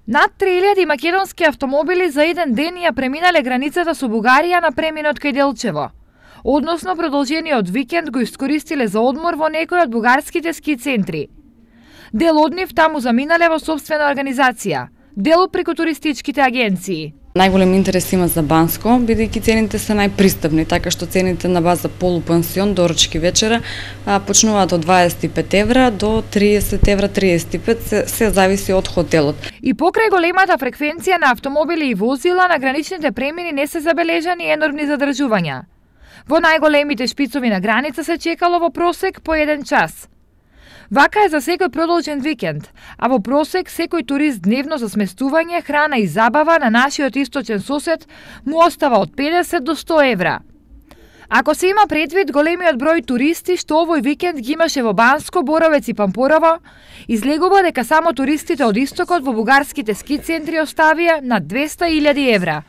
Над 3000 македонски автомобили за еден ден ја преминале границата со Бугарија на преминот кај Делчево. Односно, продолжениот викенд го искористиле за одмор во некои од бугарските ски центри. Дел од нив таму заминале во сопствена организација, дел преку туристичките агенции. Најголем интерес има за Банско, бидејќи цените се најпристапни, така што цените на база полупансион, доручки вечера, почнуваат од 25 евра до 30 евра 35, се зависи од хотелот. И покрај големата фреквенција на автомобили и возила, на граничните премини не се забележани енормни задржувања. Во најголемите шпицови на граница се чекало во просек по 1 час. Вака е за секој продолжен викенд, а во просек секој турист дневно за сместување, храна и забава на нашиот источен сосед му остава од 50 до 100 евра. Ако се има предвид големиот број туристи што овој викенд ги имаше во Банско, Боровец и Пампорово, излегува дека само туристите од истокот во бугарските ски центри оставија над 200.000 евра.